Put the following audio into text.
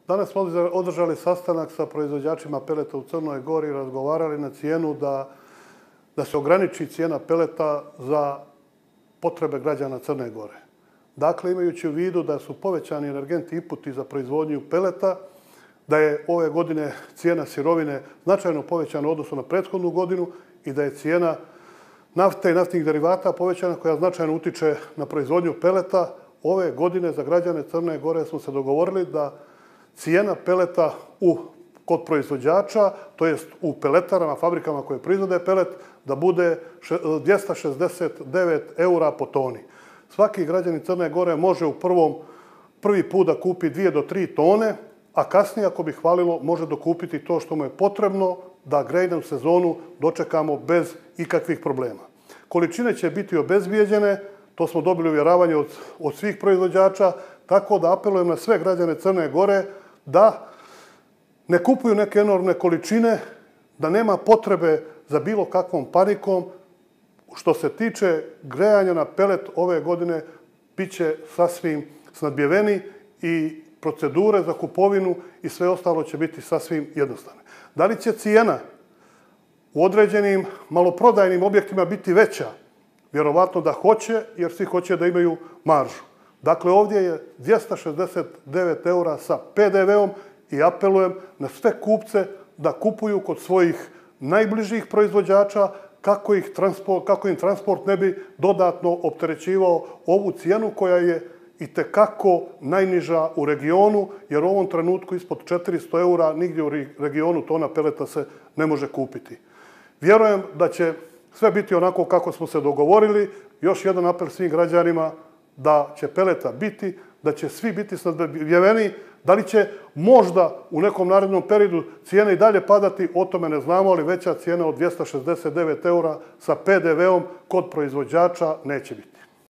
Danas smo održali sastanak sa proizvođačima peleta u Crnoj Gori i razgovarali na cijenu da se ograniči cijena peleta za potrebe građana Crne Gore. Dakle, imajući u vidu da su povećani energenti inputi za proizvodnju peleta, da je ove godine cijena sirovine značajno povećana u odnosu na prethodnu godinu i da je cijena nafte i naftnih derivata povećana koja značajno utiče na proizvodnju peleta. Ove godine za građane Crne Gore smo se dogovorili da cijena peleta kod proizvođača, to jest u peletarama, fabrikama koje proizvode pelet, da bude 269 eura po toni. Svaki građanin Crne Gore može prvi put da kupi 2 do 3 tone, a kasnije, ako bi hvalilo, može dokupiti to što mu je potrebno da grejnu sezonu dočekamo bez ikakvih problema. Količine će biti obezbijeđene, to smo dobili uvjeravanje od svih proizvođača, tako da apelujem na sve građane Crne Gore da ne kupuju neke enormne količine, da nema potrebe za bilo kakvom panikom. Što se tiče grejanja na pelet ove godine, bit će sasvim snadbijeveni i procedure za kupovinu i sve ostalo će biti sasvim jednostavne. Da li će cijena u određenim maloprodajnim objektima biti veća? Vjerovatno da hoće, jer svi hoće da imaju maržu. Dakle, ovdje je 269 eura sa PDV-om i apelujem na sve kupce da kupuju kod svojih najbližih proizvođača kako im transport ne bi dodatno opterećivao ovu cijenu koja je itekako najniža u regionu, jer u ovom trenutku ispod 400 eura nigdje u regionu tona peleta se ne može kupiti. Vjerujem da će sve biti onako kako smo se dogovorili. Još jedan apel svim građanima da će peleta biti, da će svi biti snadbijeveni. Da li će možda u nekom narednom periodu cijene i dalje padati, o tome ne znamo, ali veća cijena od 269 eura sa PDV-om kod proizvođača neće biti.